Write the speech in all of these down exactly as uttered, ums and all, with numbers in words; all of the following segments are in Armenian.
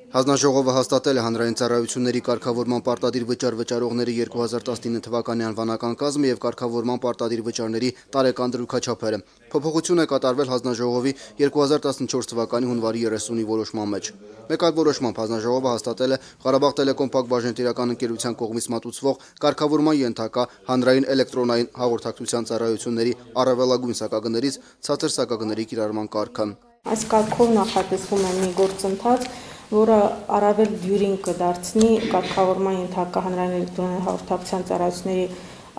Հանձնաժողովը հաստատել է հանրային ծառայությունների կարգավորման պարտադիր վճար վճարողների երկու հազար տասնինը թվականի անվանական կազմը և կարգավորման պարտադիր վճարների տարեկան դրույքաչափերը։ Փոփոխություն է կատարվել հանձնաժողովի երկու հազար տասնչորս թվականի հունվարի երեսունի որոշման մեջ։ Մեկ այլ որոշմամբ հանձնաժողովը հաստատել է Ղարաբաղ Տելեկոմ Փակ բաժնետիրական ընկերության կողմից մատուցվող կարգավորման ենթակա հանրային էլեկտրոնային հաղորդակցության ծառայությունների առավելագույն սակագներից ցածր սակագների կիրառման կարգը։ Այս կարգով նախատեսվում է մի գործընթաց, որը առավել դյուրին կդարձնի կարգավորման ենթակա հանրային էլեկտրոնային հաղորդակցության ծառայությունների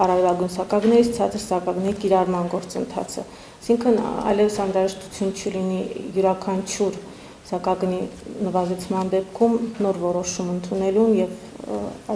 առավելագույն սակագներից ցածր սակագների կիրառման գործընթացը։ Այսինքն այլևս անհրաժեշտություն չլինի յուրաքանչյուր սակագնի նվազեցման դեպքում նոր որոշում ընդունելուն եւ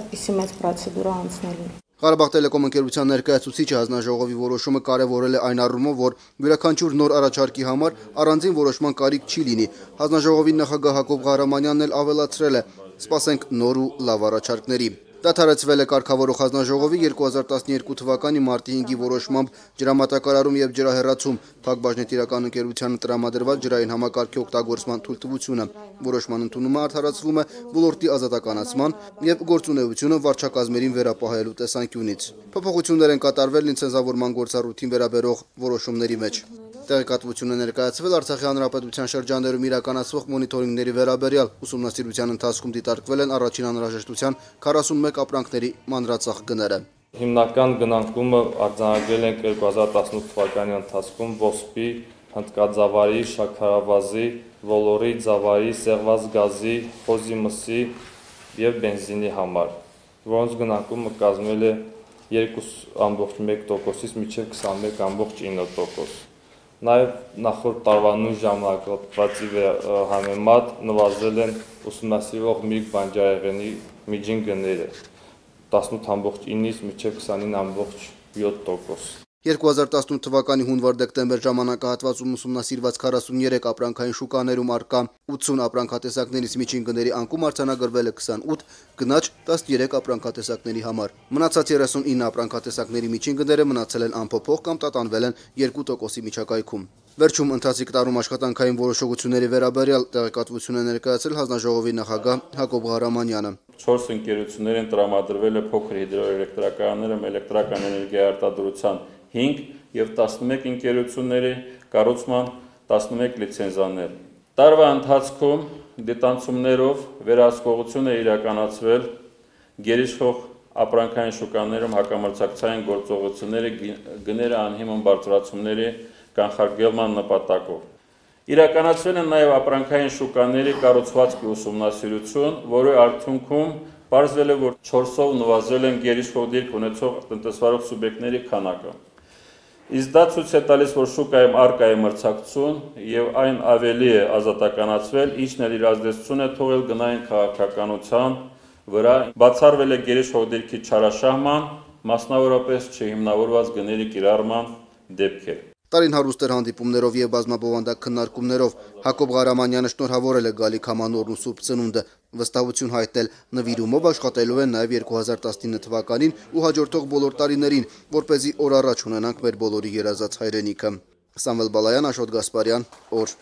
այդպիսի մեծ պրոցեդուրա անցնելուն։ Ղարաբաղ Տելեկոմ ընկերության ներկայացուցիչը հանձնաժողովի որոշումը կարևորել է այն առումով, որ յուրաքանչյուր նոր առաջարկի համար առանձին որոշման կարիք չի լինի։ Հանձնաժողովի նախագահ Հակոբ Ղահրամանյանն էլ ավելացրել է. «Սպասենք նոր ու լավ առաջարկների»։ Դադարեցվել է կարգավորող հանձնաժողովի երկու հազար տասներկու թվականի մարտի հինգի որոշմամբ ջրամատակարարում եւ ջրահեռացում Փակ բաժնետիրական ընկերությանը տրամադրված ջրային համակարգի օգտագործման թույլտվությունը։ Որոշման ընդունումը արդարացվում է ոլորտի ազատականացման եւ գործունեությունը վարչակազմերին վերապահելու տեսանկյունից։ Փոփոխություններ են կատարվել լիցենզավորման գործառույթին վերաբերող որոշումների մեջ։ Տեղեկատվություն է ներկայացվել Արցախի հանրապետության շրջաններում իրականացվող մոնիտորինգների վերաբերյալ։ Ուսումնասիրության ընթացքում դիտարկվել են առաջին անհրաժեշտության քառասունմեկ ապրանքների մանրածախ գները։ Հիմնական գնանկումը արձանագրել ենք երկու հազար տասնութ թվականի ընթացքում ոսպի, հնդկաձավարի, շաքարավազի, ոլորի, ձավարի, սեղված գազի, խոզի մսի եւ բենզինի համար, որոնց գնանկումը կազմել է երկու ամբողջ մեկ տոկոսից մինչև քսանմեկ ամբողջ ինը տոկոս։ Նաև նախորդ տարվա նույն ժամանակվա համեմատ նվազել են ուսումնասիրվող միրգ բանջարեղենի միջին գները տասնութ ամբողջ ինից մինչև քսանինը ամբողջ յոթ տոկոս։ երկու հազար տասնութ թվականի հունվար-դեկտեմբեր ժամանակահատվածում ուսումնասիրված քառասուններեք ապրանքային շուկաներում առկա ութսուն ապրանքատեսակներից միջին գների անկում արձանագրվել է քսանութ, գնաճ տասներեք ապրանքատեսակների համար։ Մնացած երեսունինը ապրանքատեսակների միջին գները մնացել են անփոփոխ կամ տատանվել են երկու տոկոսի միջակայքում։ Վերջում ընթացիկ տարում աշխատանքային որոշողությունների վերաբերյալ տեղեկատվություն է ներկայացրել հանձնաժողովի նախագահ Հակոբ Ղահրամանյանը։ Չորս ընկերություններ են տրամադրվել է փոքր հիդրոէլեկտրակայաններում էլեկտրական էներգիայի արտադրության հինգ եւ տասնմեկ ընկերությունների կառուցման տասնմեկ լիցենզաներ։ Տարվա ընթացքում դիտանցումներով վերահսկողություն է իրականացվել գերիշխող ապրանքային շուկաներում հակամրցակցային գործողությունների գները անհիմն բարձրացումների կանխարգելման նպատակով։ Իրականացվել են նաև ապրանքային շուկաների կառուցվածքի ուսումնասիրություն, որի արդյունքում պարզվել է, որ չորսով նվազել են գերիշխող դիրք ունեցող տնտեսվարող սուբյեկտների քանակը։ Իսկ դա ցույց է տալիս, որ շուկայում առկա է մրցակցություն եւ այն ավելի է ազատականացվել, ինչն էլ իր ազդեցություն է թողել գնային քաղաքականության վրա, բացառվել է գերիշխող դիրքի չարաշահման, մասնավորապես չհիմնավորված գների կիրառման դեպքեր։ Տարին հարուստ էր հանդիպումներով եւ բազմաբովանդակ քննարկումներով։ Հակոբ Ղահրամանյանը շնորհավորել է գալիք համանորն ու սուրբ ծնունդը, վստահություն հայտնել նվիրումով աշխատելու են նաեւ երկու հազար տասնինը թվականին ու հաջորդող բոլոր տարիներին, որպեսզի օր առաջ ունենանք մեր բոլորի երազած հայրենիքը։ Սամվել Բալայան, Աշոտ Գասպարյան, օր։